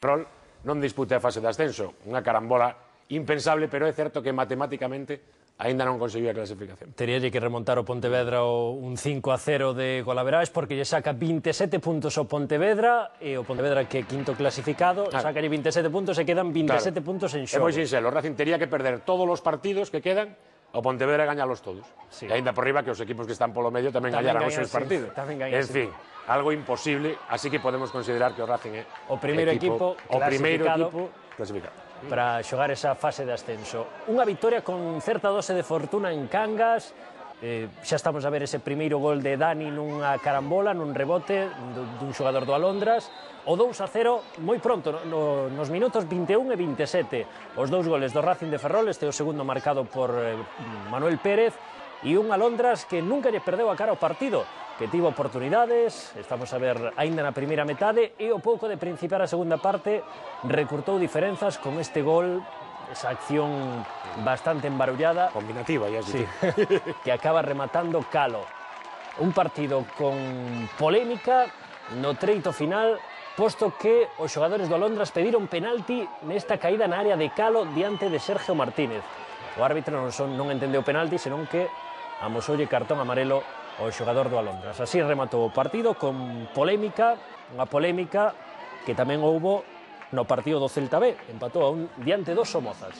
Ferrol non dispute a fase de ascenso, unha carambola impensable, pero é certo que matemáticamente aínda non conseguiu a clasificación. Teríalle que remontar o Pontevedra un 5-0 de golaverais, porque lle saca 27 puntos ao Pontevedra, e o Pontevedra, que é quinto clasificado, sacalle 27 puntos e quedan 27 puntos en xogo. É moi sinxelo, o Racing tería que perder todos os partidos que quedan, o Pontevedra gañalos todos. E aínda por riba que os equipos que están polo medio tamén gañaran os seus partidos. En fin, algo imposible, así que podemos considerar que o Racing é o primeiro equipo clasificado para xogar esa fase de ascenso. Unha victoria con certa dose de fortuna en Cangas. Xa estamos a ver ese primeiro gol de Dani nunha carambola, nun rebote dun xogador do Alondras. O 2-0 moi pronto, nos minutos 21 e 27. Os dous goles do Racing de Ferrol, este é o segundo marcado por Manuel Pérez, e un Alondras que nunca lle perdeu a cara ao partido, que tivo oportunidades, estamos a ver aínda na primeira metade, e o pouco de principiar a segunda parte recurtou diferenzas con este gol, esa acción bastante embarullada, combinativa, ya sí, que acaba rematando Calo. Un partido con polémica no treito final, posto que os xogadores do Alondras pediron penalti nesta caída na área de Calo diante de Sergio Martínez. O árbitro non entendeu penalti, senón que amosoulle cartón amarelo ao xogador do Alondras. Así rematou o partido con polémica, unha polémica que tamén houbo no partido do Celta B, empatou a un diante dos Somozas.